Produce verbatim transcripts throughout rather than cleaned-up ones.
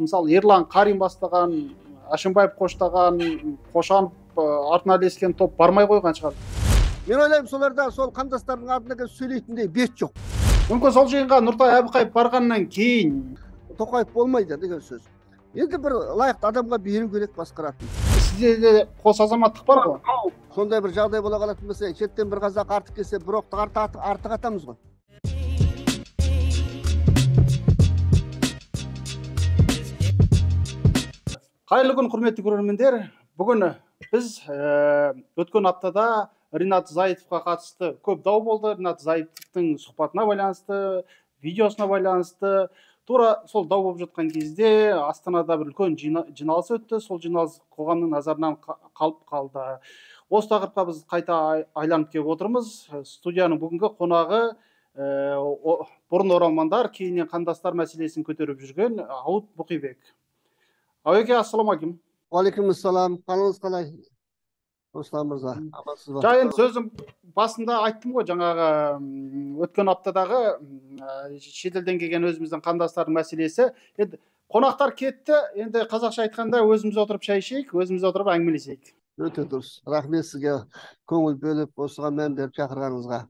Мысалы, Ерлан Қарин бастаған, Ашимбаев қоштаған, Қошанов артына ілескен топ бармай қойған шығар. Мен ойлаймын, соларда сол қандастардың алдында сөйлейтіндей бет жоқ. Мүмкін сол жиынға Нұртай Әбіқаев барғаннан кейін Тоқаев болмайды деген сөз. Енді бір лайықты адамға беру керек басқаратын. Сізде де қос азаматтық бар ғой? Сондай бір жағдай бола қалатын болса, шеттен бір қазақ артық келсе, бір оқты артық атамыз ғой. Қайырлы күн, құрметті көрермендер. Бүгін біз өткен аптада Ринат Зайытовқа қатысты көп дау болды. Ринат Зайытовтың сұхбатына байланысты, видеосына байланысты. Тура сол дау болып жатқан кезде Астанада бір үлкен жиналыс өтті. Сол жиналыс қоғамның назарынан қалып қалды. Осы тақырыпқа біз қайта айланып келіп отырмыз. Студияның бүгінгі қонағы бұрын оралмандар, кейіннен қандастар мәселесін көтеріп жүрген Ауыт Бұқибек. Ауеке, ассаламалейкум. Уалейкумассалам. Қалыңыз қалай? Руслан мырза, амансыз ба? Жайын сөзім басында айттым ғой, жаңағы өткен аптадағы шетелден келген өзіміздің қандастардың мәселесі. Енді қонақтар кетті, енді қазақша айтқанда өзіміз отырып шай ішейік, өзіміз отырып әңгімелесейік. Өте дұрыс. Рахмет сізге көңіл бөліп, осыған мән беріп шақырғаныңызға.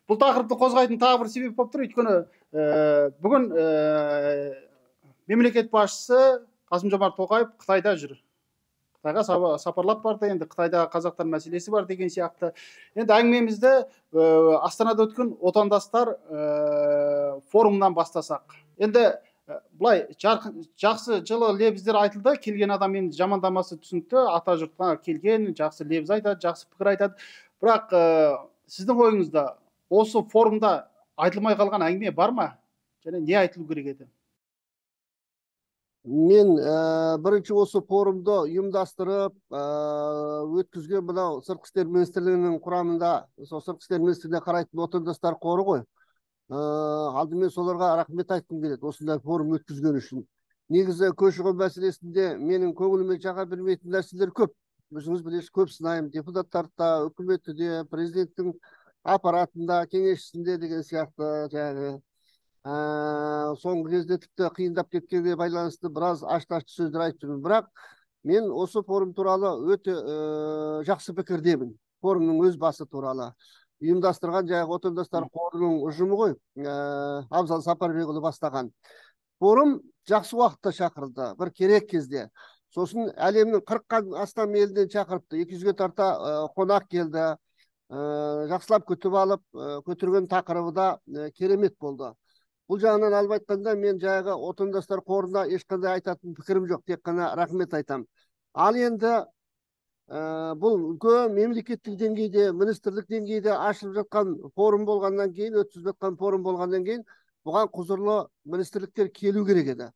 Бұл тақырыпты қозғайтын тағы бір себеп болып тұр, өйткені бүгін мемлекет басшысы Қасым-Жомарт Тоқаев Қытайда жүр. Қытайға сапарлап барды, енді Қытайда қазақтар мәселесі бар деген сияқты. Енді әңгімемізді Астанада өткен отандастар форумынан бастасақ. Енді бұлай жақсы жылы лебіздер айтылды, келген адам енді жамандамасы түсінікті, ата жұртқа келген, жақсы лебіз айтады, жақсы пікір айтады. Бірақ сіздің ойыңызда осы форумда айтылмай қалған әңгіме бар ма? Және не айтылу керек еді? Мен бірінші осы форумды ұйымдастырып, өткізген мынау Сыртқы істер министрлігінің құрамында, сол Сыртқы істер министрлігіне қарайтын отандастар қоры ғой. Алдымен соларға рахмет айтқым келеді, осындай форум өткізген үшін. Негізі көші-қон мәселесінде менің көңіліме жаға бермейтін нәрселер көп. Өзіңіз білесіз, көп сынаймын, депутаттарда, үкіметте де, президенттің аппаратында, кеңесшісінде деген сияқты жаңағы. Соңғы кезде тіпті қиындап кеткенге байланысты біраз ашты-ашты сөздер айтып жүрмін. Бірақ мен осы форум туралы өте жақсы пікірдемін. Форумның өз басы туралы. Ұйымдастырған жаңағы отандастар қорының ұжымы ғой, Абзал Сапарбекұлы бастаған. Форум жақсы уақытта шақырылды, бір керек кезде. Сосын әлемнің қырықтан астам елден шақырыпты, екі жүзге тарта қонақ келді. Жақсылап күтіп алып, көтерген тақырыбы да керемет болды. Бұл жағынан алып айтқанда, мен жаңағы отандастар қорына ешқандай айтатын пікірім жоқ, тек қана рахмет айтам. Ал енді бұл үлкен мемлекеттік деңгейде, министрлік деңгейде ашылып жатқан форум болғаннан кейін, өткізіліп жатқан форум болғаннан кейін, бұған құзырлы министрліктер келу керек еді.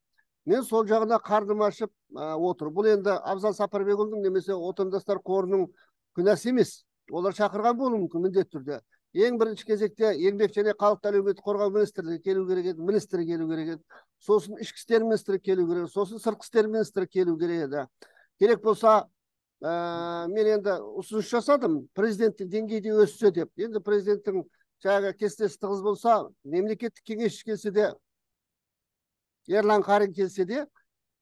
Мен сол жағына қарным ашып отыр. Бұл енді Абзал Сапарбекұлының немесе отандастар қорының күнәсі емес. Олар шақырған болуы мүмкін міндетті түрде. Ең бірінші кезекте еңбек және халықты әлеуметтік қорғау министрлігі келу керек еді, министрі келу керек еді. Сосын ішкі істер министрі келу керек еді, сосын сыртқы істер министрі келу керек еді. Керек болса, мен енді ұсыныс жасадым, президенттің деңгейде өссе деп. Енді президенттің жаңағы кестесі тығыз болса, мемлекеттік кеңесші келсе де, Ерлан Қарин келсе де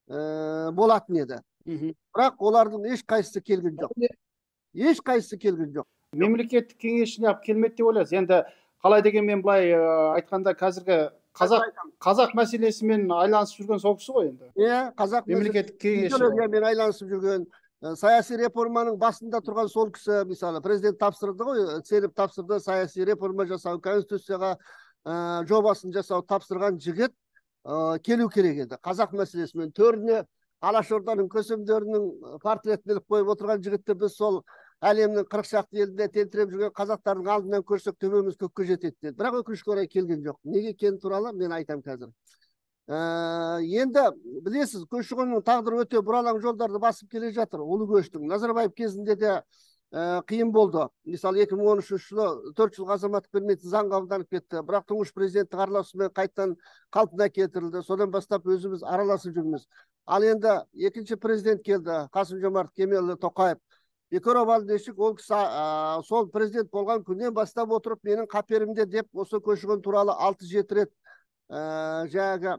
болатын еді. Бірақ олардың еш қайсысы келген жоқ. Еш қайсысы келген жоқ. Мемлекеттік кеңесшіні алып келмеді деп ойлайсыз. Енді қалай деген мен былай айтқанда қазіргі қазақ қазақ мәселесімен айланысып жүрген сол кісі ғой енді. Иә, қазақ мемлекеттік кеңесші мен айланысып жүрген, саяси реформаның басында тұрған сол кісі, мысалы, президент тапсырды ғой, сеніп тапсырды, саяси реформа жасау, конституцияға жобасын жасау тапсырған жігіт келу керек еді. Қазақ мәселесімен төріне Алашорданың көсемдерінің портретін іліп қойып отырған жігітті біз сол әлемнің қырық шақты елінде тентіреп жүрген қазақтардың алдынан көрсек төбеміз көкке жетеді деді. Бірақ өкінішке орай келген жоқ. Неге екені туралы мен айтам қазір. Енді білесіз, көші-қонның тағдыры өте бұралаң жолдарды басып келе жатыр. Ұлы көштің Назарбаев кезінде де қиын болды. Мысалы, екі мың он үшінші жылы төрт жылға азаматтық бермейтін заң қабылданып кетті. Бірақ тұңғыш президенттің араласуымен қайтадан қалпына келтірілді. Содан бастап өзіміз араласып жүрміз. Ал енді екінші президент келді, Қасым-Жомарт Кемелұлы Тоқаев. Бекаров Алдешік, ол кісі сол президент болған күннен бастап отырып, менің қаперімде деп осы көші-қон туралы алты жеті рет жаңағы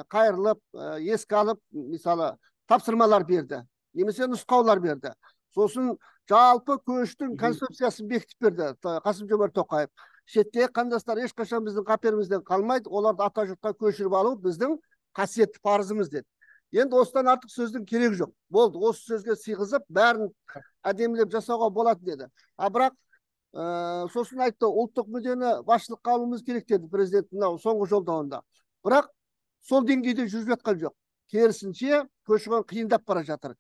қайырылып, еске алып, мысалы, тапсырмалар берді, немесе нұсқаулар берді. Сосын жалпы көштің концепциясын бекітіп берді Қасым Жомарт Тоқаев. Шеттегі қандастар ешқашан біздің қаперімізден қалмайды, оларды ата жұртқа көшіріп алу біздің қасиетті парызымыз деді. Енді осыдан артық сөздің керегі жоқ. Болды, осы сөзге сыйғызып, бәрін әдемілеп жасауға болады деді. А бірақ сосын айтты, ұлттық мүддені басшылыққа алуымыз керек деді президент мынау соңғы жолдауында. Бірақ сол деңгейде жүріп жатқан жоқ. Керісінше көші-қон қиындап бара жатыр.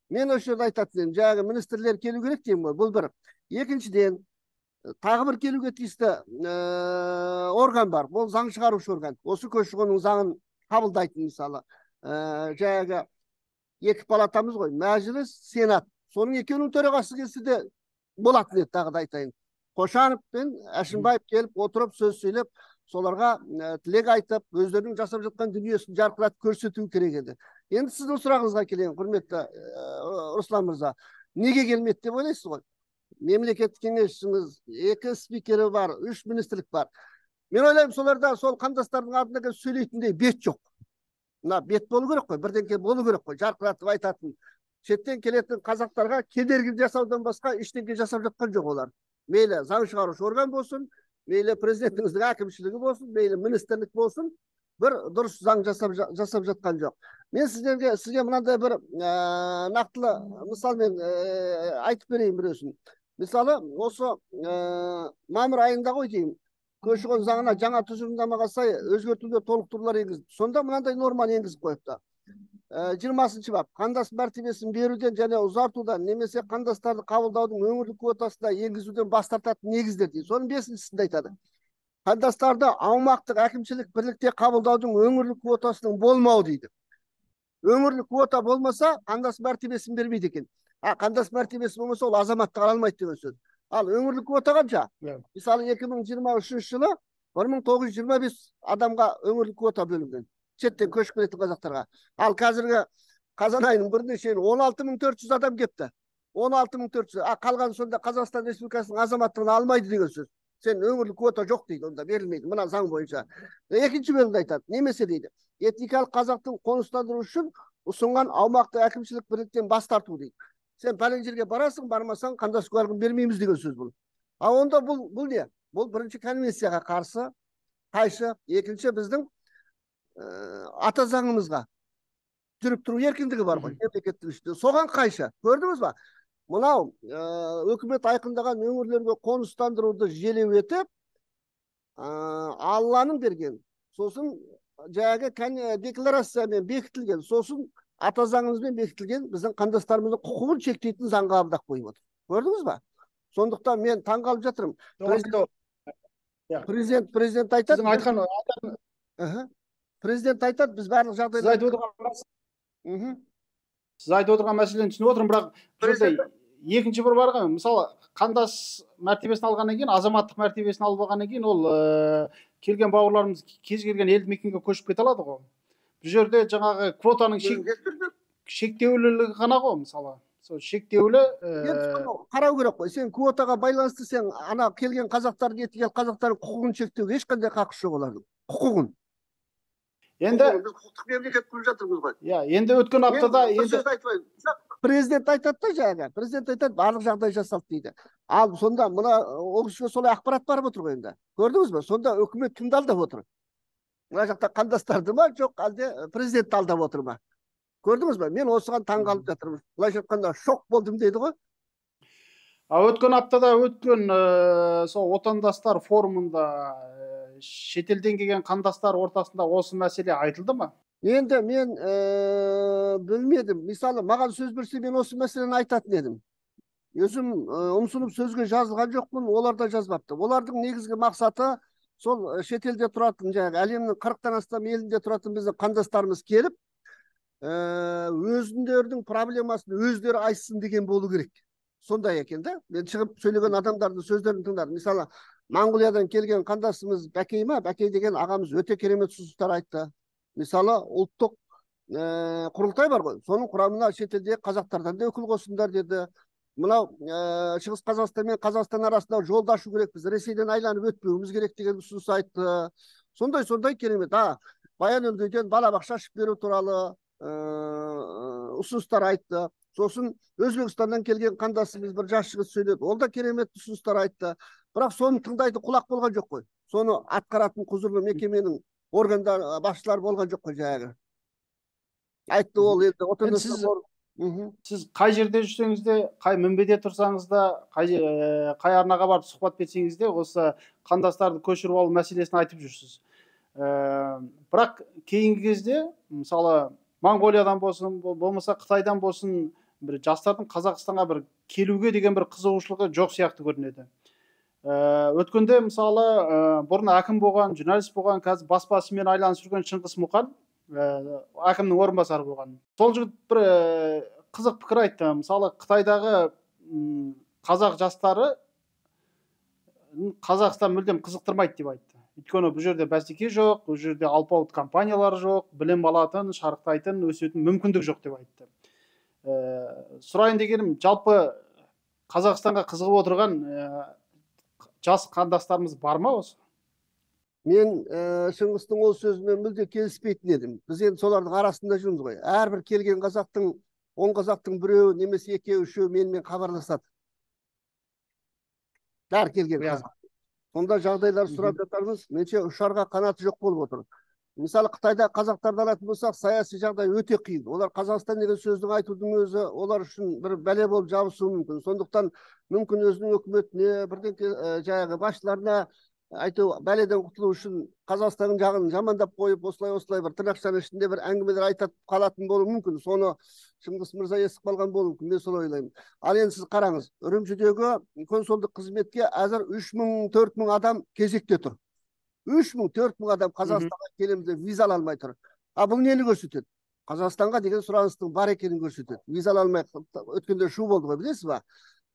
Мен осы жерде айтатын едім, жаңағы министрлер келу керек деймін ғой, бұл бір. Екіншіден, тағы бір келуге тиісті орган бар, бұл заң шығарушы орган. Осы көші-қонның заңын қабылдайтын, мысалы, жаңағы екі палатамыз ғой, мәжіліс, сенат. Соның екеуінің төрағасы келсе де болатын еді, тағы да айтайын. Қошанов пен Әшімбаев келіп, отырып, сөз сөйлеп, соларға тілек айтып, өздерінің жасап жатқан дүниесін жарқыратып көрсету керек еді. Енді сіздің сұрағыңызға келейін, құрметті Руслан мырза. Неге келмеді деп ойлайсыз ғой? Мемлекеттік кеңесшіміз, екі спикері бар, үш министрлік бар. Мен ойлаймын, соларда сол қандастардың алдында сөйлейтіндей бет жоқ. Мына бет болу керек қой, бірдеңке болу керек қой, жарқыратып айтатын. Шеттен келетін қазақтарға кедергі жасаудан басқа ештеңе жасап жатқан жоқ олар. Мейлі заң шығарушы орган болсын, мейлі президентіңіздің әкімшілігі болсын, мейлі министрлік болсын, бір дұрыс заң жасап, жасап жатқан жоқ. Мен сіздерге, сізге мынандай бір нақтылы мысалмен айтып берейін біреусін. Мысалы, осы мамыр айында ғой деймін, көші-қон заңына жаңа тұжырымдамаға сай өзгертулер, толықтырулар енгізді. Сонда мынандай норманы енгізіп қойыпты. жиырмасыншы бап, қандас мәртебесін беруден және ұзартудан немесе қандастарды қабылдаудың өңірлік квотасына енгізуден бас тартатын негіздер дейді. Соның бесіншісінде айтады. Қандастарды аумақтық әкімшілік бірлікте қабылдаудың өңірлік квотасының болмауы дейді. Өңірлік квота болмаса, қандас мәртебесін бермейді екен. А қандас мәртебесі болмаса, ол азаматтық ала алмайды деген сөз. Ал өңірлік квота қанша? Мысалы, екі мың жиырма үшінші жылы бір мың тоғыз жүз жиырма бес адамға өңірлік квота бөлінген. Шеттен көшіп келетін қазақтарға. Ал қазіргі қазан айының біріне шейін он алты мың төрт жүз адам кепті. он алты мың төрт жүз. А қалған сонда Қазақстан Республикасының азаматтығын алмайды деген сөз. Сен өңірлік квота жоқ дейді, онда берілмейді. Мына заң бойынша. Екінші бөлімде айтады. Немесе дейді. Этникалық қазақтың қоныстандыру үшін ұсынған аумақты әкімшілік бірліктен бас тарту дейді. Сен пәлен жерге барасың, бармасаң қандас куәлігін бермейміз деген сөз бұл. А онда бұл бұл не? Бұл бірінші конвенцияға қарсы, қайшы, екінші біздің ата заңымызға жүріп тұру еркіндігі бар ғой, мемлекеттік ішінде. Соған қайшы. Көрдіңіз ба? Мынау өкімет айқындаған өңірлерге қоныстандыруды желеу етіп, Алланың берген, сосын жаңағы декларациямен бекітілген, сосын ата заңымызбен бекітілген біздің қандастарымыздың құқығын шектейтін заң қабылдап қойып отыр. Көрдіңіз ба? Сондықтан мен таңғалып жатырмын. Президент президент айтады. Сіздің айтқан Президент айтады, біз барлық жағдайда. Сіз айтып отырған Сіз айтып отырған мәселені түсініп отырмын, бірақ екінші бір бар ғой, мысалы, қандас мәртебесін алғаннан кейін, азаматтық мәртебесін алып алғаннан кейін, ол келген бауырларымыз кез келген елді мекенге көшіп кете алады ғой. Бұл жерде жаңағы квотаның шектеулілігі ғана ғой, мысалы. Сол шектеулі қарау керек қой. Сен квотаға байланысты сен ана келген қазақтардың, еткен қазақтардың құқығын шектеуге ешқандай қақысы жоқ олардың. Құқығын. Енді құқықтық мемлекет құрып жатырмыз ғой. Иә, енді өткен аптада енді президент айтады да жаңа, президент айтады, барлық жағдай жасалды дейді. Ал сонда мына ол кісіге солай ақпарат барып отыр ғой енді. Көрдіңіз бе? Сонда үкімет кімді алдап отыр? Мына жақта қандастарды ма, жоқ әлде президентті алдап отыр ма? Көрдіңіз бе? Мен осыған таңғалып жатырмын. Былайша айтқанда шок болдым дейді ғой. А өткен аптада өткен сол отандастар форумында шетелден келген қандастар ортасында осы мәселе айтылды ма? Енді мен білмедім. Мысалы, маған сөз берсе, мен осы мәселені айтатын едім. Өзім ұмсынып сөзге жазылған жоқпын, олар да жазбапты. Олардың негізгі мақсаты сол шетелде тұратын, жаңағы әлемнің қырықтан астам елінде тұратын біздің қандастарымыз келіп, өзіндердің проблемасын өздері айтсын деген болу керек. Сондай екен да. Мен шығып сөйлеген адамдардың сөздерін тыңдадым. Мысалы, Моңғолиядан келген қандасымыз Бәкей ма? Бәкей деген ағамыз өте керемет ұсыныстар айтты. Мысалы, ұлттық құрылтай бар ғой. Соның құрамына шетелдегі қазақтардан да өкіл қосыңдар деді. Мынау Шығыс Қазақстан мен Қазақстан арасында жолды ашу керек, біз Ресейден айланып өтпеуіміз керек деген ұсыныс айтты. Сондай сондай керемет. А Баян Өлгейден балабақша ашып беру туралы ұсыныстар айтты. Сосын Өзбекстаннан келген қандасымыз бір жас жігіт сөйледі. Ол да керемет ұсыныстар айтты. Бірақ соны тыңдайды құлақ болған жоқ қой. Соны атқаратын құзырлы мекеменің органдар басшылары болған жоқ қой жаңағы. Айтты ол енді отандастар. Сіз қай жерде жүрсеңіз де, қай мінбеде тұрсаңыз да, қай қай арнаға барып сұхбат берсеңіз де, осы қандастарды көшіріп алу мәселесін айтып жүрсіз. Бірақ кейінгі кезде, мысалы, Моңғолиядан болсын, болмаса Қытайдан болсын, бір жастардың Қазақстанға бір келуге деген бір қызығушылығы жоқ сияқты көрінеді. Өткенде, мысалы, бұрын әкім болған, журналист болған, қазір баспасымен айналысып жүрген Шыңғыс Мұқан әкімнің орынбасары болған. Сол жігіт бір қызық пікір айтты. Мысалы, Қытайдағы қазақ жастары Қазақстан мүлдем қызықтырмайды деп айтты. Өйткені бұл жерде бәсеке жоқ, бұл жерде алпауыт компаниялар жоқ, білім алатын, шарықтайтын, өсетін мүмкіндік жоқ деп айтты. Сұрайын дегенім, жалпы Қазақстанға қызығып отырған жас қандастарымыз бар ма осы? Мен Шыңғыстың ол сөзімен мүлде келіспейтін едім. Біз енді солардың арасында жүрміз ғой. Әрбір келген қазақтың, он қазақтың біреуі немесе екеуі үшеуі менімен хабарласады. Бәрі келген қазақ. Сонда жағдайлар сұрап жатармыз. Менше ұшарға қанаты жоқ болып отыр. Мысалы, Қытайда қазақтарды алатын болсақ, саяси жағдай өте қиын. Олар Қазақстан деген сөздің айтудың өзі олар үшін бір бәле болып жабысуы мүмкін. Сондықтан мүмкін өзінің үкіметіне, бірден жаңағы басшыларына айту бәледен құтылу үшін Қазақстанның жағын жамандап қойып, осылай-осылай бір тырнақшаның ішінде бір әңгімелер айтып қалатын болуы мүмкін. Соны Шыңғыс мырза естіп қалған болуы мүмкін. Мен солай ойлаймын. Ал енді сіз қараңыз, Үрімшідегі консулдық қызметке әзір үш мың төрт мың адам кезекте тұр. үш мың төрт мың адам Қазақстанға келеміз деп виза ала алмай тұр. А бұл нені көрсетеді? Қазақстанға деген сұраныстың бар екенін көрсетеді. Виза ала алмай өткенде шу болды ғой, білесіз ба?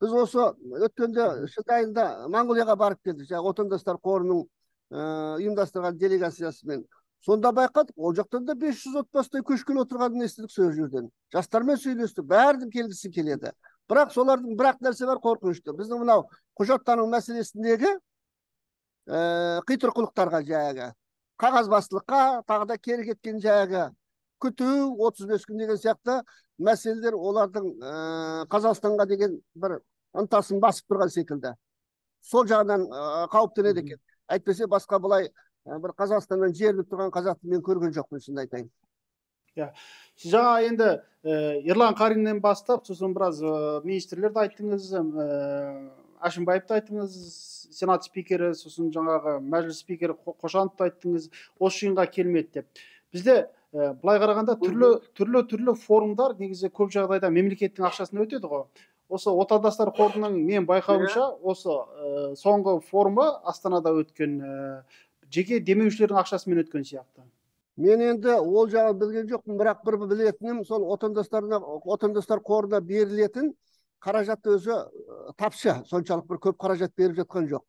Біз осы өткенде шілде айында Моңғолияға барып келдік, жаңағы отандастар қорының ұйымдастырған делегациясымен. Сонда байқадық, ол жақтан да бес жүз отбасыдай көшкелі отырғанын естідік сол жерден. Жастармен сөйлестік, бәрінің келгісі келеді. Бірақ солардың бірақ нәрсе бар, қорқынышты. Біздің мынау құжаттану мәселесіндегі қитұрқылықтарға жаңағы қағазбастылыққа, тағы да кері кеткен жаңағы күту, отыз бес күн деген сияқты мәселелер олардың Қазақстанға деген бір ынтасын басып тұрған секілді. Сол жағынан қауіптенеді екен. Әйтпесе басқа былай бір Қазақстаннан жерініп тұрған қазақты мен көрген жоқпын, шынын айтайын. Сіз жаңа енді Ерлан Қариннен бастап, сосын біраз министрлерді айттыңыз, Әшімбаевты айттыңыз, сенат спикері, сосын жаңағы мәжіліс спикері Қошановты айттыңыз, осы жиынға келмеді деп. Бізде былай қарағанда түрлі түрлі түрлі форумдар негізі көп жағдайда мемлекеттің ақшасына өтеді ғой. Осы отандастар қорының мен байқауымша осы соңғы форумы Астанада өткен жеке демеушілердің ақшасымен өткен сияқты. Мен енді ол жағын білген жоқпын, бірақ бір білетінім сол отандастарына, отандастар қорына берілетін қаражат өзі тапшы, соншалық бір көп қаражат беріп жатқан жоқ.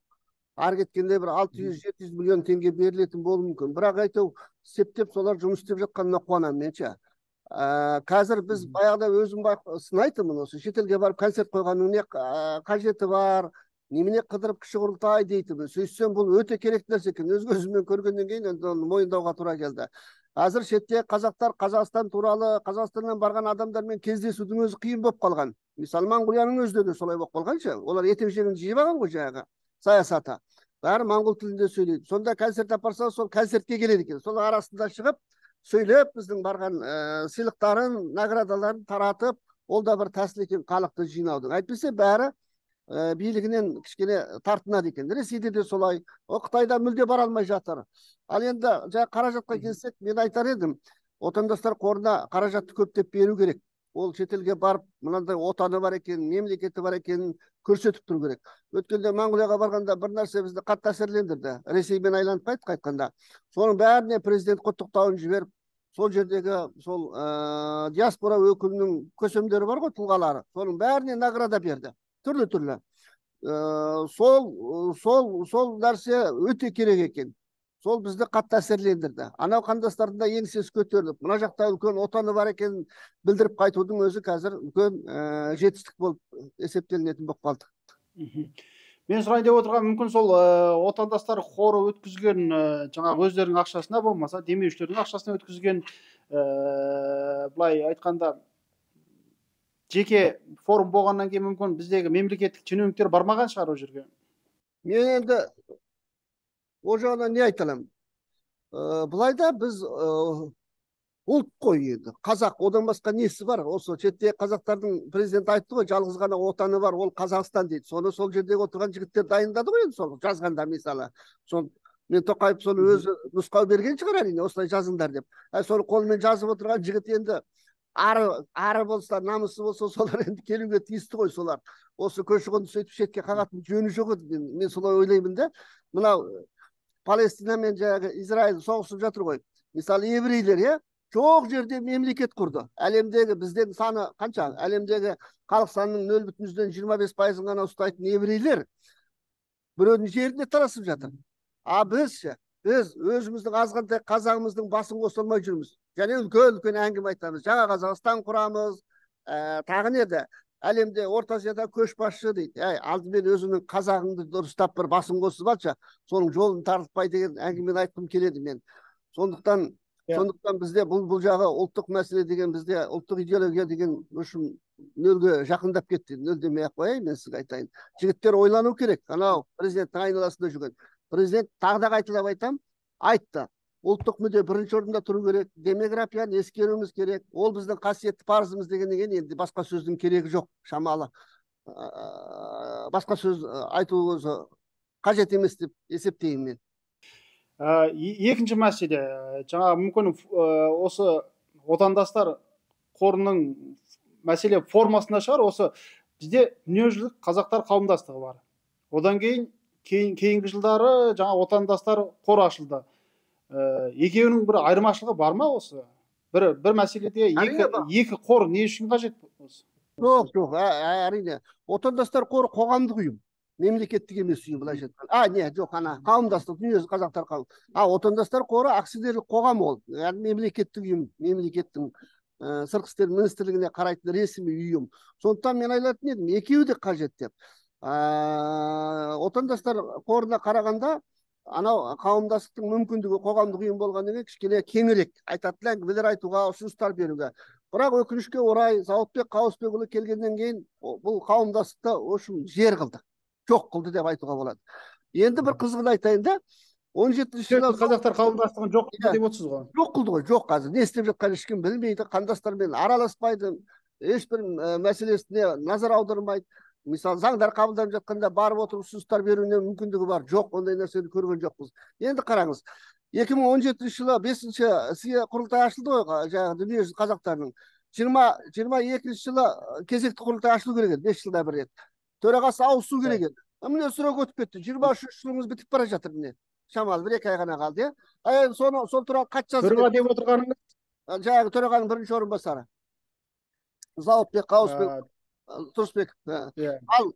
Ар кеткенде бір алты жүз жеті жүз миллион теңге берілетін болуы мүмкін. Бірақ айту септеп солар жұмыс істеп жатқанына қуанамын менше. Қазір біз баяғыда өзім сынайтынмын осы шетелге барып концерт қойғанның не қажеті бар, немене қыдырып кіші құрылтай дейтінмін. Сөйтсем бұл өте керек нәрсе екен. Өз көзіммен көргеннен кейін енді мойындауға тура келді. Қазір шетте қазақтар Қазақстан туралы, Қазақстаннан барған адамдармен кездесудің өзі қиын болып қалған. Мысалы, Моңғолияның өзінде де солай болып қалғанша, олар етек-жеңін жиып алған ғой жаңағы саясаты. Бәрі моңғол тілінде сөйлейді. Сонда концерт апарса, сол концертке келеді екен. Сол арасында шығып, сөйлеп, біздің барған сыйлықтарын, наградаларын таратып, ол да бір тәсіл екен халықты жинаудың. Әйтпесе бәрі билігінен кішкене тартынады екен. Ресейде де солай, о Қытайда мүлде бара алмай жатыр. Ал енді жаңа қаражатқа келсек, мен айтар едім, отандастар қорына қаражатты көптеп беру керек. Ол шетелге барып, мынандай отаны бар екен, мемлекеті бар екенін көрсетіп тұру керек. Өткенде Моңғолияға барғанда бір нәрсе бізді қатты әсерлендірді. Ресеймен айланып қайт қайтқанда. Соның бәріне президент құттықтауын жіберіп, сол жердегі сол диаспора өкілінің көсемдері бар ғой, тұлғалары. Соның бәріне награда берді. Түрлі-түрлі. Сол сол сол нәрсе өте керек екен. Сол бізді қатты әсерлендірді. Анау қандастардың да еңсесі көтеріліп, мына жақта үлкен отаны бар екенін білдіріп қайтудың өзі қазір үлкен жетістік болып есептелінетін болып қалды. Мен сұрайын деп отырған мүмкін сол отандастар қоры өткізген жаңағы өздерінің ақшасына болмаса демеушілердің ақшасына өткізген былай айтқанда жеке форум болғаннан кейін мүмкін біздегі мемлекеттік шенеуніктер бармаған шығар ол жерге. Мен енді ол жағынан не айта аламын? Былайда біз ұлт қой енді, қазақ, одан басқа несі бар? Осы шеттегі қазақтардың президенті айтты ғой, жалғыз ғана отаны бар, ол Қазақстан дейді. Соны сол жердегі отырған жігіттер дайындады ғой енді, сол жазғанда мысалы. Сол мен Тоқаев соны өзі нұсқау берген шығар әрине, осылай жазыңдар деп. Соны қолмен жазып отырған жігіт енді ары ары болса, намысы болса, солар енді келуге тиісті ғой солар. Осы көші-қонды сөйтіп шетке қағатын жөні жоқ еді. Мен солай ойлаймын да. Мынау Палестина мен жаңағы Израиль соғысып жатыр ғой. Мысалы еврейлер, иә, жоқ жерде мемлекет құрды. Әлемдегі бізден саны қанша? Әлемдегі халық санының нөл бүтін жүзден жиырма бес пайызын ғана ұстайтын еврейлер біреудің жеріне тарасып жатыр. А біз ше, біз өзіміздің азғантай қазағымыздың басын қоса алмай жүрміз. Және үлкен-үлкен әңгіме айтамыз. Жаңа Қазақстан құрамыз, тағы не еді? Әлемде Орта Азияда көшбасшы дейді. Әй, алдымен өзіңнің қазағыңды дұрыстап бір басын қосып алшы, соның жолын тартпай деген әңгімені айтқым келеді мен. Сондықтан Сондықтан бізде бұл бұл жағы ұлттық мәселе деген, бізде ұлттық идеология деген үшін нөлге жақындап кетті. Нөл демей ақ қояйын, мен сізге айтайын. Жігіттер ойлану керек. Анау президенттің айналасында жүрген. Президент тағы да қайталап айтам, айтты. Ұлттық мүдде бірінші орында тұру керек. Демографияны ескеруіміз керек. Ол біздің қасиетті парызымыз дегеннен енді басқа сөздің керегі жоқ, шамалы. Басқа сөз айту қажет емес деп есептеймін мен. Екінші мәселе, жаңа мүмкін осы отандастар қорының мәселе формасында шығар, осы бізде дүниежүзілік қазақтар қауымдастығы бар. Одан кейін кейінгі жылдары жаңа отандастар қоры ашылды. Екеуінің бір айырмашылығы бар ма осы? Бір бір мәселеде екі қор не үшін қажет осы? Жоқ, жоқ, әрине. Отандастар қоры қоғамдық ұйым. Мемлекеттік емес ұйым, былайша айтқанда. А, не, жоқ, ана қауымдастық, дүниежүзілік қазақтар қауым. А, отандастар қоры акционерлік қоғам ол. Яғни мемлекеттік ұйым, мемлекеттің сыртқы істер министрлігіне қарайтын ресми ұйым. Сондықтан мен айтатын едім, екеуі де қажет деп. Отандастар қорына қарағанда, анау қауымдастықтың мүмкіндігі қоғамдық ұйым болғаннан кейін кішкене кеңірек айтатын әңгімелер айтуға, ұсыныстар беруге. Бірақ өкінішке орай Зауытбек Қауысбекұлы келгеннен кейін бұл қауымдастықты үшін жер қылды. Жоқ қылды деп айтуға болады. Енді бір қызығын айтайын да, он жетінші жылы қазақтар қауымдастығын жоқ қылды деп отырсыз ғой. Жоқ қылды ғой, жоқ қазір. Не істеп жатқанын ешкім білмейді, қандастармен араласпайды, ешбір мәселесіне назар аудармайды. Мысалы, заңдар қабылданып жатқанда барып отырып ұсыныстар беруіне мүмкіндігі бар. Жоқ, ондай нәрсені көрген жоқпыз. Енді қараңыз, екі мың он жетінші жылы бесінші сия құрылтай ашылды ғой, жаңағы дүниежүзілік қазақтарының. жиырма екінші жылы кезекті құрылтай ашылу керек еді, бес жылда бір рет. Төрағасы ауысу керек еді. Міне срок өтіп кетті. жиырма үшінші жылымыз бітіп бара жатыр міне. Шамалы бір екі ай ғана қалды, иә. Соны сол туралы хат жазып. Төраға деп отырғаныңыз? Жаңағы төрағаның бірінші орынбасары. Зауытбек Қауысбек Тұрысбеков. Ал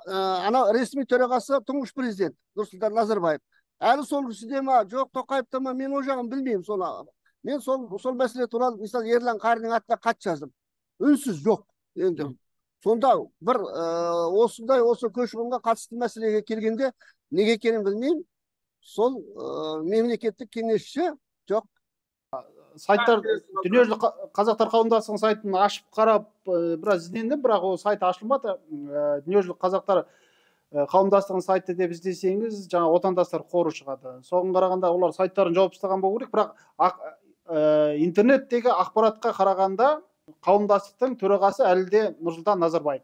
анау ресми төрағасы тұңғыш президент Нұрсұлтан Назарбаев. Әлі сол кісіде ма, жоқ Тоқаевта ма, мен ол жағын білмеймін. Мен сол мәселе туралы мысалы Ерлан Қариннің атына хат жаздым. Үнсіз жоқ енді. Сонда бір осындай осы көші-қонға қатысты мәселеге келгенде неге екенін білмеймін. Сол мемлекеттік кеңесші жоқ. Сайттар, дүниежүзілік қазақтар қауымдастығының сайтын ашып қарап біраз іздендім, бірақ ол сайт ашылмады. Дүниежүзілік қазақтар қауымдастығының сайты деп іздесеңіз, жаңа отандастар қоры шығады. Соған қарағанда олар сайттарын жауып тастаған болу керек, бірақ интернеттегі ақпаратқа қарағанда қауымдастықтың төрағасы әлі де Нұрсұлтан Назарбаев.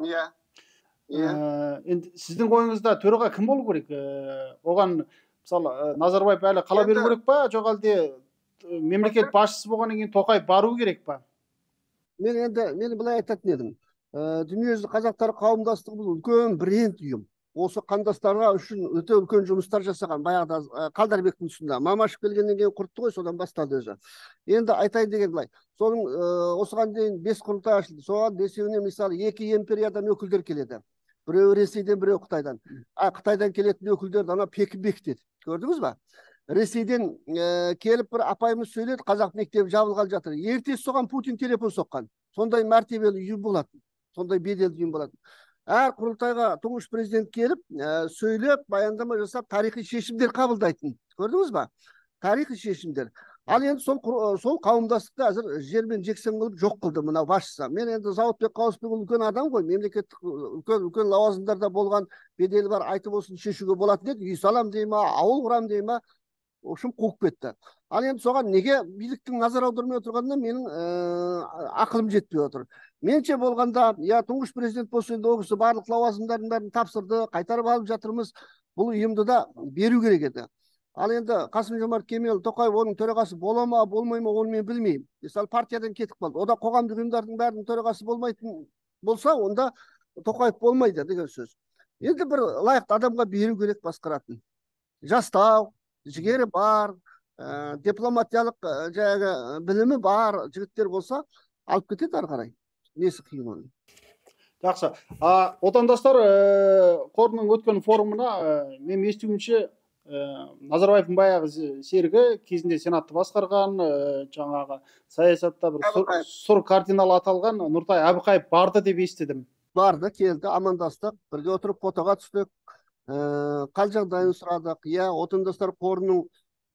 Иә. Енді сіздің ойыңызда төраға кім болу керек? Оған мысалы Назарбаев әлі қала беру керек па, жоқ әлде мемлекет басшысы болғаннан кейін Тоқаев бару керек па? Мен енді мен былай айтатын едім. Дүниежүзілік қазақтар қауымдастығы бұл үлкен бренд ұйым. Осы қандастарға үшін өте үлкен жұмыстар жасаған. Баяғыда Қалдарбектің тұсында Мамашев келгеннен кейін құртты ғой, содан бастады өзі. Енді айтайын деген былай. Соның осыған дейін бес құрылтай ашылды. Соған бесеуіне мысалы екі империядан өкілдер келеді. Біреу Ресейден, біреу Қытайдан. А Қытайдан келетін өкілдерді ана Пекин бекітеді. Көрдіңіз ба? Ресейден келіп бір апайымыз сөйледі, қазақ мектебі жабылғалы жатыр. Ертесі соған Путин телефон соққан. Сондай мәртебелі ұйым болатын. Сондай беделді ұйым болатын. әр құрылтайға тұңғыш президент келіп, сөйлеп, баяндама жасап, тарихи шешімдер қабылдайтын. Көрдіңіз ба? Тарихи шешімдер. Ал енді сол сол қауымдастықты әзір жермен жексен қылып жоқ қылды мынау басшысы. Мен енді Зауытбек Қауысбекұлы үлкен адам ғой, мемлекеттік үлкен үлкен лауазымдарда болған, беделі бар, айтып осыны шешуге болатын еді. Үй салам дей ма, ауыл құрам дей ма, в общем қуып кетті. Ал енді соған неге биліктің назар аудармай отырғанына менің ақылым жетпей отыр. Менше болғанда, я тұңғыш президент болса енді ол кісі барлық лауазымдардың бәрін тапсырды, қайтарып алып жатырмыз. Бұл ұйымды да беру керек еді. Ал енді Қасым Жомарт Кемел Тоқаев оның төрағасы бола ма, болмай ма, оны мен білмеймін. Мысалы партиядан кетіп қалды. Ода қоғамдық ұйымдардың бәрінің төрағасы болмайтын болса, онда Тоқаев болмайды деген сөз. Енді бір лайықты адамға беру керек басқаратын. Жастау, жігері бар, дипломатиялық жаңағы білімі бар жігіттер болса, алып кетеді ары қарай. Несі қиын оның. Жақсы. Отандастар қорының өткен форумына мен естуімше Назарбаевтың баяғы серігі кезінде сенатты басқарған, жаңағы саясатта бір сұр кардинал аталған Нұртай Әбіқаев барды деп естідім. Барды, келді, амандастық, бірге отырып фотоға түстік, қал жағдайын сұрадық. Иә, отандастар қорының,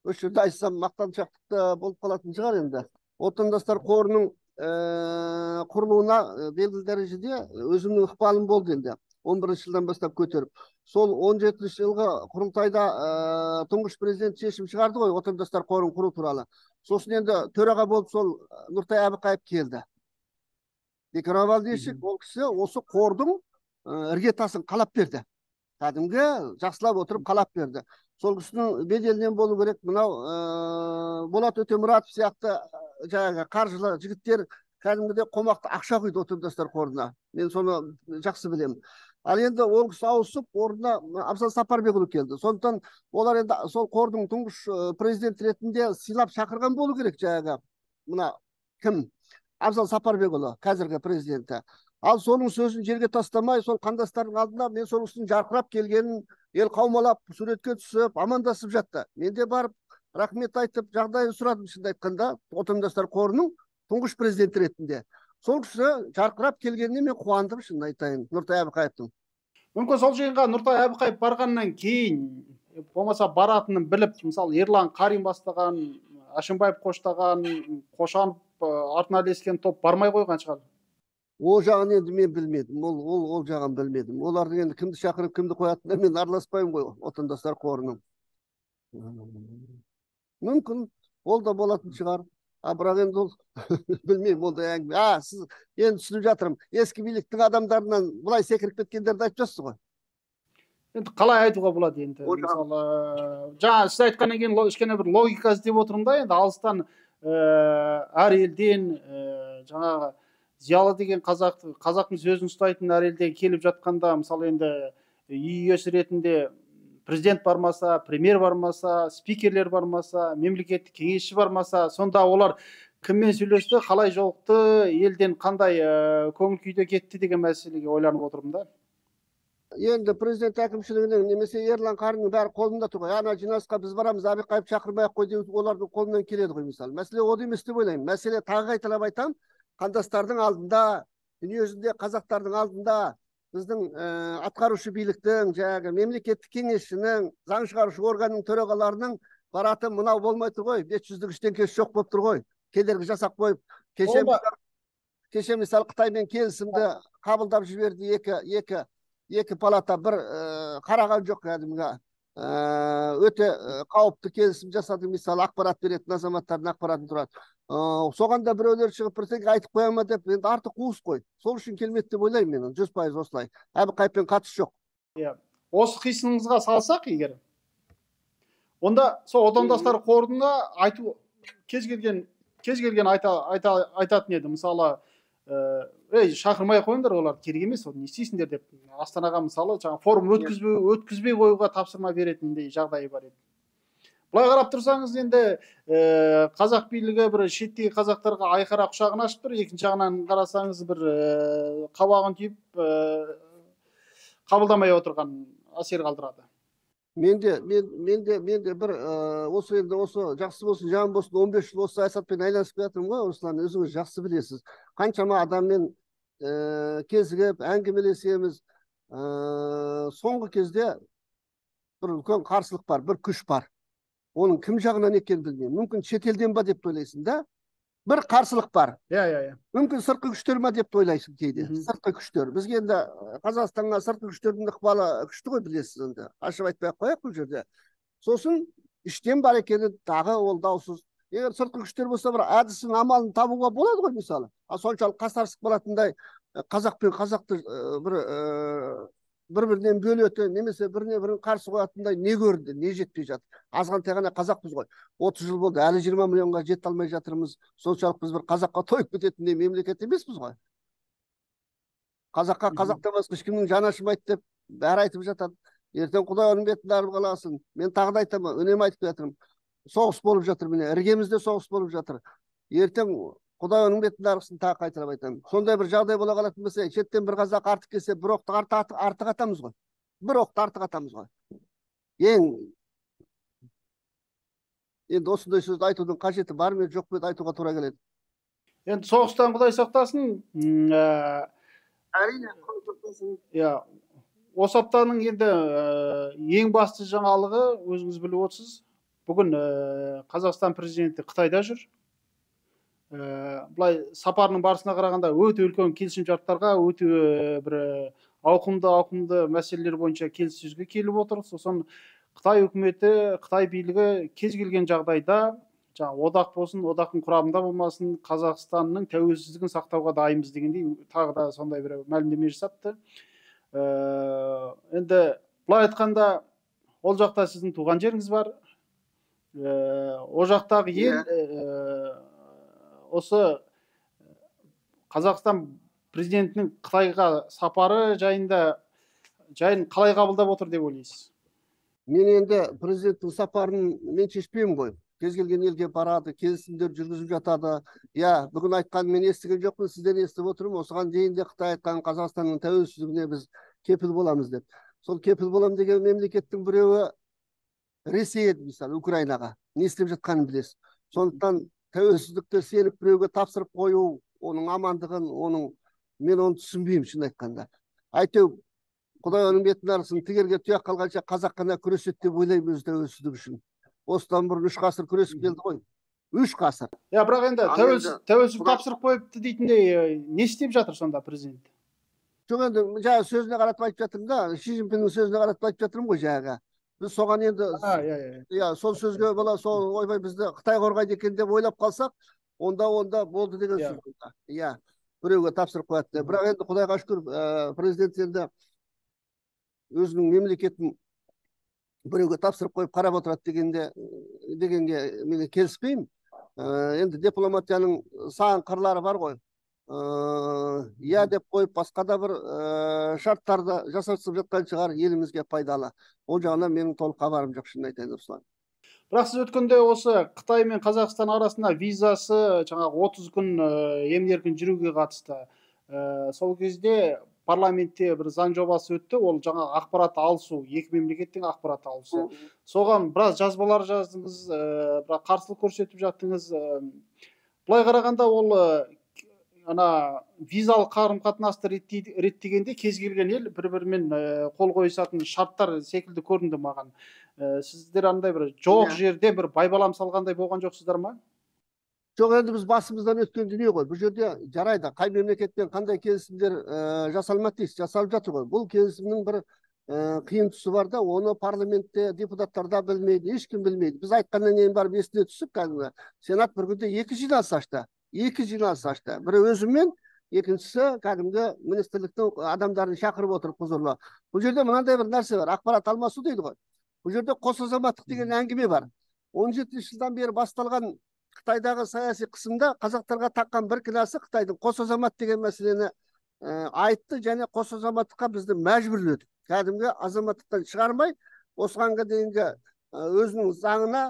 осы жерде айтсам мақтаншақтықта болып қалатын шығар енді. Отандастар қорының құрылуына белгілі дәрежеде өзімнің ықпалым болды енді. он бірінші жылдан бастап көтеріп. Сол он жетінші жылғы құрылтайда тұңғыш президент шешім шығарды ғой, отандастар қорын құру туралы. Сосын енді төраға болып сол Нұртай Әбіқаев келді. Бекеравал Дешік, ол кісі осы қордың іргетасын қалап берді. Кәдімгі жақсылап отырып қалап берді. Сол кісінің беделінен болу керек, мынау Болат Өтемұратов сияқты жаңағы қаржылы жігіттер кәдімгідей қомақты ақша құйды отандастар қорына. Мен соны жақсы білемін. Ал енді ол кісі ауысып, орнына Абзал Сапарбекұлы келді. Сондықтан олар енді сол қордың тұңғыш президент ретінде сыйлап шақырған болу керек жаңағы. Мына кім? Абзал Сапарбекұлы, қазіргі президенті. Ал соның сөзін жерге тастамай, сол қандастардың алдында мен сол кісінің жарқырап келгенін ел қаумалап, суретке түсіп, амандасып жатты. Мен де барып, рахмет айтып, жағдайын сұрадым, шынды айтқанда, отандастар қорының тұңғыш президент ретінде. Сол кісі жарқырап келгеніне мен қуандым, шынды айтайын, Нұртай Әбіқаевтың. Мүмкін сол жиынға Нұртай Әбіқаев барғаннан кейін, болмаса баратынын біліп, мысалы Ерлан Қарин бастаған, Әшімбаев қоштаған, Қошанов артына ілескен топ бармай қойған шығар. Ол жағын енді мен білмедім, ол ол ол жағын білмедім. Олардың енді кімді шақырып, кімді қоятынына мен араласпаймын ғой, отандастар қорының. Мүмкін ол да болатын шығар. А бірақ енді ол білмеймін, ол да әңгіме. А, сіз енді түсініп жатырмын. Ескі биліктің адамдарынан былай секіріп кеткендерді айтып жатсыз ғой. Енді қалай айтуға болады енді? Мысалы, жаңа сіз айтқаннан кейін кішкене бір логика іздеп отырмын да, енді алыстан әр елден жаңағы зиялы деген қазақ, қазақтың сөзін ұстайтын әр елден келіп жатқанда, мысалы енді үй иесі ретінде президент бармаса, премьер бармаса, спикерлер бармаса, мемлекеттік кеңесші бармаса, сонда олар кіммен сөйлесті, қалай жолықты, елден қандай көңіл күйде кетті деген мәселеге ойланып отырмын да. Енді президент әкімшілігінің немесе Ерлан Қариннің бәрі қолында тұр ғой. Ана жиналысқа біз барамыз, Әбіқаев шақырмай-ақ қой деп олардың қолынан келеді ғой мысалы. Мәселе ол емес деп ойлаймын. Мәселе тағы қайталап айтамын, қандастардың алдында, дүниежүзінде қазақтардың алдында біздің атқарушы биліктің, жаңағы мемлекеттік кеңесшінің, заң шығарушы органның төрағаларының бараты мынау болмай тұр ғой. бес жүздік ештеңкесі жоқ болып тұр ғой. Кедергі жасап қойып, кеше кеше мысалы Қытаймен келісімді қабылдап жіберді, екі екі екі палата бір қараған жоқ кәдімгі. Өте қауіпті келісім жасады, мысалы ақпарат беретін азаматтардың ақпаратын тұрады. Соған да біреулер шығып бірдеңе айтып қоя ма деп, енді артық қуыс қой. Сол үшін келмеді деп ойлаймын мен, жүз пайыз осылай. Әбіқаевпен қатысы жоқ. Осы қисыныңызға салсақ егер, онда сол отандастар қорына айту кез келген кез келген айтатын еді. Мысалы, ей, шақырмай қойыңдар, олар керек емес, не істейсіңдер деп. Астанаға мысалы жаңа форум өткізбей өткізбей қоюға тапсырма беретіндей жағдайы бар еді. Былай қарап тұрсаңыз, енді қазақ билігі бір шеттегі қазақтарға айқара құшағын ашып тұр, екінші жағынан қарасаңыз бір қабағын түйіп қабылдамай отырған әсер қалдырады. Менде мен менде менде бір осы енді осы жақсы болсын, жаман болсын, он бес жыл осы саясатпен айналысып жатырмын ғой, Руслан, өзіңіз жақсы білесіз. Қаншама адаммен кезігіп, әңгімелесеміз. соңғы кезде бір үлкен қарсылық бар, бір күш бар. Оның кім жағынан екенін білмеймін. Мүмкін шетелден ба деп ойлайсың да. Бір қарсылық бар. Иә, иә, иә. Мүмкін сыртқы күштер ма деп ойлайсың кейде. Сыртқы күштер. Бізге енді Қазақстанға сыртқы күштердің ықпалы күшті ғой, білесіз енді. Ашып айтпай ақ қояйық бұл жерде. Сосын іштен бар екені тағы ол даусыз. Егер сыртқы күштер болса, бір әдісін, амалын табуға болады ғой, мысалы. А соншалық қасарысып қалатындай қазақ пен қазақты бір бір-бірінен бөлетін, немесе біріне бірін қарсы қоятындай не көрді, не жетпей жатыр. Азғантай ғана қазақпыз ғой. отыз жыл болды, әлі жиырма миллионға жете алмай жатырмыз. Соншалық біз бір қазаққа тойып кететіндей мемлекет емеспіз ғой. Қазаққа қазақтан басқа ешкімнің жаны ашымайды деп бәрі айтып жатады. Ертең Құдай оның бетін арып қаласын. Мен тағы да айтамын, үнемі айтып жатырмын. Соғыс болып жатыр, міне, іргемізде соғыс болып жатыр. Ертең Құдай оның бетін арықсын, тағы қайталап айтамын. Сондай бір жағдай бола қалатын болса, шеттен бір қазақ артық келсе, бір оқты артық атамыз ғой. Бір оқты артық атамыз ғой. Ең енді осындай сөзді айтудың қажеті бар ма, жоқ па айтуға тура келеді. Енді соғыстан Құдай сақтасын. Әрине. Иә, осы аптаның енді ең басты жаңалығы өзіңіз біліп отырсыз. Бүгін Қазақстан президенті Қытайда жүр. Бұлай сапарының барысына қарағанда өте үлкен келісімшарттарға, өте бір ауқымды ауқымды мәселелер бойынша келіссөзге келіп отыр. Сосын Қытай үкіметі, Қытай билігі кез келген жағдайда, жаңа одақ болсын, одақтың құрамында болмасын, Қазақстанның тәуелсіздігін сақтауға дайынбыз дегендей тағы да сондай бір мәлімдеме жасапты. Енді былай айтқанда, ол жақта сіздің туған жеріңіз бар. Ол жақтағы ел осы Қазақстан президентінің Қытайға сапары жайында жайын қалай қабылдап отыр деп ойлайсыз? Мен енді президенттің сапарын мен шешпеймін ғой. Кез келген елге барады, келісімдер жүргізіп жатады. Я, бүгін айтқанын мен естіген жоқпын, сізден естіп отырмын. Осыған дейін де Қытай айтқан Қазақстанның тәуелсіздігіне біз кепіл боламыз деп. Сол кепіл болам деген мемлекеттің біреуі Ресей еді, мысалы, Украинаға. Не істеп жатқанын білесіз. Сондықтан тәуелсіздікті сеніп біреуге тапсырып қою, оның амандығын, оның мен оны түсінбеймін, шын айтқанда. Әйтеу, Құдай оның бетін арысын, тігерге тұяқ қалғанша қазақ қана күреседі деп ойлаймын өз тәуелсіздік үшін. Осыдан бұрын үш ғасыр күресіп келді ғой. Үш ғасыр. Я, бірақ енді тәуелсіздік тапсырып қойыпты дейтіндей не істеп жатыр сонда президент? Жоқ, енді жаңа сөзіне қаратып айтып жатырмын да, Ши Цзиньпиннің сөзіне қаратып айтып жатырмын ғой жаңағы. Біз соған енді, иә, сол сөзге бола, сол ойбай бізді Қытай қорғайды екен деп ойлап қалсақ, онда онда болды деген сөз. Иә, біреуге тапсырып қояды. Бірақ енді Құдайға шүкір, президент енді өзінің мемлекетін біреуге тапсырып қойып қарап отырады дегенде дегенге мен келіспеймін. Енді дипломатияның сан қырлары бар ғой. Я деп қойып басқа да бір шарттарды жасасып жатқан шығар, елімізге пайдалы. Ол жағынан менің толық хабарым жоқ, шынын айтайын, Руслан. Бірақ сіз өткенде осы Қытай мен Қазақстан арасында визасы жаңағы отыз күн емін-еркін жүруге қатысты. Сол кезде парламентте бір заң жобасы өтті, ол жаңа ақпарат алысу, екі мемлекеттің ақпарат алысу. Соған біраз жазбалар жаздыңыз, бірақ қарсылық көрсетіп жаттыңыз. Былай қарағанда ол ана визалық қарым-қатынасты реттегенде кез келген ел бір-бірімен қол қойысатын шарттар секілді көрінді маған. Сіздер андай бір жоқ жерде бір байбалам салғандай болған жоқсыздар ма? Жоқ, енді біз басымыздан өткен дүние ғой. Бұл жерде жарайды, қай мемлекетпен қандай келісімдер жасалмады дейсіз, жасалып жатыр ғой. Бұл келісімнің бір қиын тұсы бар да, оны парламентте депутаттар да білмейді, ешкім білмейді. Біз айтқаннан кейін барып есіне түсіп, кәдімгі сенат бір күнде екі жиналыс ашты. Екі жиналыс ашты. Бірі өзіммен, екіншісі кәдімгі министрліктің адамдарын шақырып отырып құзырлы. Бұл жерде мынандай бір нәрсе бар, ақпарат алмасу дейді ғой. Бұл жерде қос азаматтық деген әңгіме бар. он жетінші жылдан бері басталған Қытайдағы саяси қысымда қазақтарға таққан бір кінәсі Қытайдың қос азамат деген мәселені айтты, және қос азаматтыққа бізді мәжбүрледі. Кәдімгі азаматтықтан шығармай, осығанға дейінгі өзінің заңына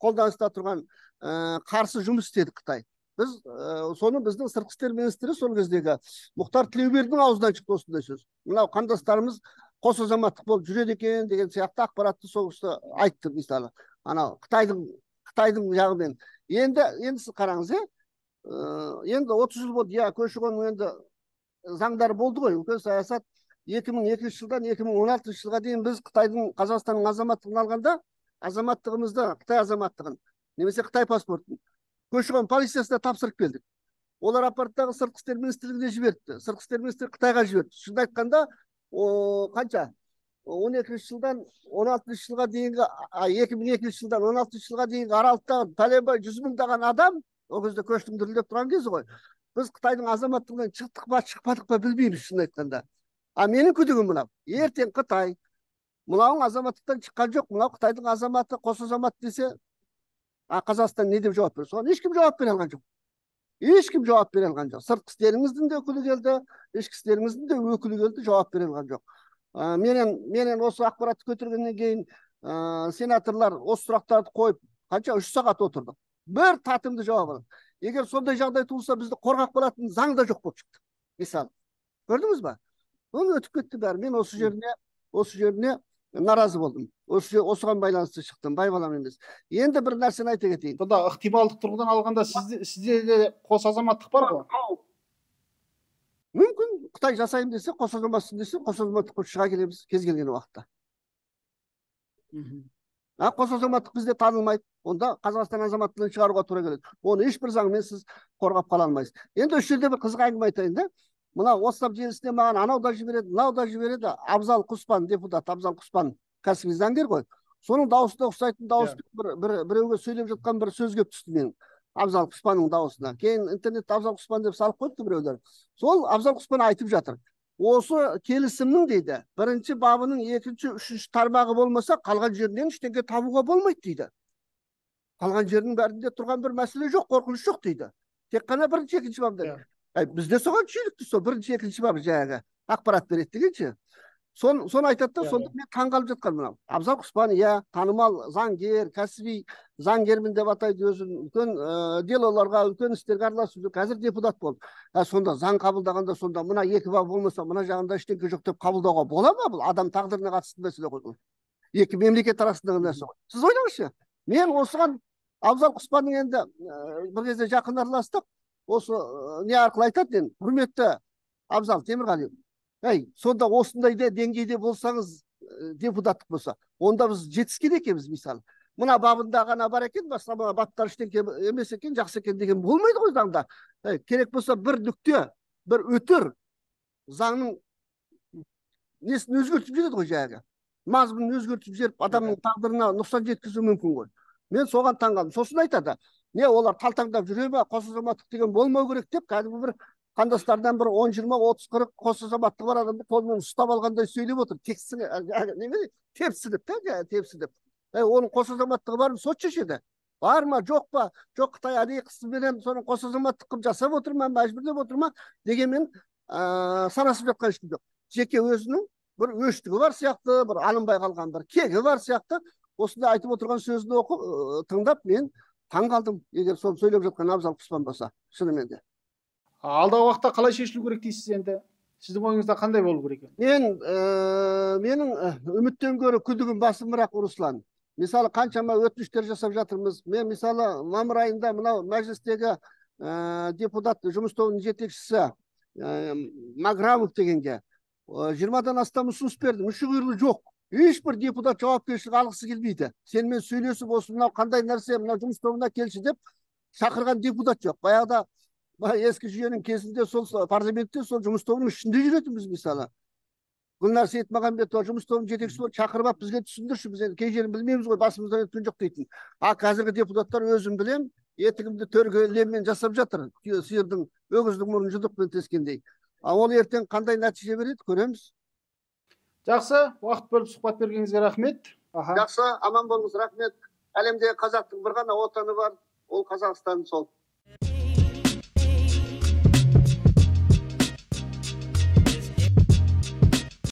қолданыста тұрған қарсы жұмыс істеді Қытай. Біз соны біздің сыртқы істер министрі сол кездегі Мұхтар Тілеубердінің аузынан шықты осындай сөз. Мынау қандастарымыз қос азаматтық болып жүреді екен деген сияқты ақпаратты сол кісі айтты, мысалы. Анау Қытайдың Қытайдың жағымен. Енді енді сіз қараңыз, енді отыз жыл болды, иә, көші-қон енді заңдар болды ғой, үлкен саясат. эки миң экинчи жылдан эки миң он алтынчы жылға дейін біз Қытайдың Қазақстанның азаматтығын алғанда, азаматтығымызды, Қытай азаматтығын, немесе Қытай паспортын көші-қон полициясына тапсырып келдік. Олар аппараттағы сыртқы істер министрлігіне жіберді. Сыртқы істер министрлігі Қытайға жіберді. Шынын айтқанда, қанша? он екінші жылдан он алтыншы жылға дейінгі, эки миң экинчи жылдан он алтынчы жылға дейінгі аралықтағы пәленбай жүз мыңдаған адам, ол кезде көштің дүрілдеп тұрған кезі ғой. Біз Қытайдың азаматтығынан шықтық па, шықпадық па білмейміз, шынын айтқанда. А менің күдігім мынау. Ертең Қытай мынауың азаматтықтан шыққан жоқ, мынау Қытайдың азаматы, қос азамат десе, а Қазақстан не деп жауап береді? Соған ешкім жауап бере алған жоқ. Ешкім жауап бере алған жоқ. Сыртқы істеріңіздің де өкілі келді, ішкі істеріңіздің де өкілі келді, жауап бере алған жоқ. Менен менен осы ақпаратты көтергеннен кейін сенаторлар осы сұрақтарды қойып, қанша үш сағат отырдық. Бір татымды жауап алды. Егер сондай жағдай туылса, бізді қорғап қалатын заң да жоқ болып шықты. Мысалы, көрдіңіз ба? Ол өтіп кетті бәрі. Мен осы жеріне, осы жеріне наразы болдым. Осы осыған байланысты шықтым, байбалам емес. Енді бір нәрсені айта кетейін. Сонда ықтималдық тұрғыдан алғанда сізде сізде де қос азаматтық бар ғой? Мүмкін Қытай жасайын десе, қос азаматсың десе, қос азаматтық шыға келеміз кез келген уақытта. А қос азаматтық бізде танылмайды. Онда Қазақстан азаматтығын шығаруға тура келеді. Оны ешбір заңмен сіз қорғап қала алмайсыз. Енді осы жерде бір қызық әңгіме айтайын да. Мына WhatsApp желісіне маған анау да жібереді, мынау да жібереді. Абзал Құспан, депутат Абзал Құспан, кәсіби заңгер ғой. Соның дауысына ұқсайтын дауыспен бір бір біреуге сөйлеп жатқан бір сөз келіп түсті менің. Абзал Құспанның дауысына. Кейін интернетте Абзал Құспан деп салып қойыпты біреулер. Сол Абзал Құспан айтып жатыр. Осы келісімнің дейді, бірінші бабының екінші, үшінші тармағы болмаса, қалған жерінен ештеңе табуға болмайды дейді. Қалған жерінің бәрінде тұрған бір мәселе жоқ, қорқыныш жоқ дейді. Тек қана бірінші, екінші бабда. Бізде соған шүйлікті сол бірінші, екінші бабы жаңағы ақпарат береді дегенше. Соны айтады да, сонда мен таңғалып жатқан мынау. Абзал Құспан, иә, танымал заңгер, кәсіби заңгермін деп атайды өзін, үлкен делоларға, үлкен істерге араласып, қазір депутат болды. Сонда заң қабылдағанда, сонда мына екі бап болмаса, мына жағында ештеңе жоқ деп қабылдауға бола ма? Бұл адам тағдырына қатысты мәселе ғой. Екі мемлекет арасындағы нәрсе ғой. Сіз ойлаңызшы. Мен осыған Абзал Құспанның енді бір кезде жақын араластық. Осы не арқылы айтады енді, құрметті Абзал Темірғалиев. Әй, сонда осындай деңгейде болсаңыз, депутаттық болса, онда біз жетіскен екенбіз, мысалы. Мына бабында ғана бар екен, басқа баптар ештеңе емес екен, жақсы екен деген болмайды ғой заңда. Керек болса бір нүкте, бір өтір заңның несін өзгертіп жібереді ғой жаңағы. Мазмұнын өзгертіп жіберіп, адамның тағдырына нұқсан жеткізуі мүмкін ғой. Мен соған таңғалдым. Сосын айтады, не олар талтаңдап жүре ме, қос азаматтық деген болмау керек деп, кәдімгі бір қандастардан бір он, жиырма, отыз, қырық қос азаматтығы бар адамды қолмен ұстап алғандай сөйлеп отыр. Тексіне, тепсініп, тепсініп. Оның қос азаматтығы бар ма, сот шешеді. Бар ма, жоқ па, жоқ Қытай әдейі қысымменен соның қос азаматтық қылып жасап отыр ма, мәжбүрлеп отыр ма дегенмен санасып жатқан ешкім жоқ. Жеке өзінің бір өштігі бар сияқты, бір алынбай қалған бір кегі бар сияқты. Осында айтып отырған сөзді оқып, тыңдап мен таңғалдым, егер соны сөйлеп жатқан Абзал Құспан болса, шынымен де. Алдағы уақытта қалай шешілу керек дейсіз енді? Сіздің ойыңызда қандай болу керек? Мен, менің үміттен гөрі күдігім басымырақ, Руслан. Мысалы, қаншама өтініштер жасап жатырмыз. Мен, мысалы, мамыр айында мынау мәжілістегі депутат, жұмыс тобының жетекшісі Маграмов дегенге жиырмадан астам ұсыныс берді. Мүші құйрығы жоқ. Ешбір депутат жауапкершілік алғысы келмейді. Сенімен сөйлесіп, осы мынау қандай нәрсе, мынау жұмыс тобына келші деп шақырған депутат жоқ. Баяғыда ескі жүйенің кезінде сол парламентте сол жұмыс тобының ішінде жүретінбіз, мысалы. Гүлнар Сейітмағамбетова жұмыс тобының жетекшісі болып шақырып алып, бізге түсіндірші, біз кей жерін білмейміз ғой, басымыздан өткен жоқ дейтін. А қазіргі депутаттар өзім білем, етігімді төрге леммен жасап жатыр. Сиырдың, өгіздің мұрнын жұдықпен тескендей. А ол ертең қандай нәтиже береді, көреміз. Жақсы, уақыт бөліп сұхбат бергеніңізге рахмет. Жақсы, аман болыңыз, рахмет. Әлемдегі қазақтың бір ғана отаны бар, ол Қазақстан сол.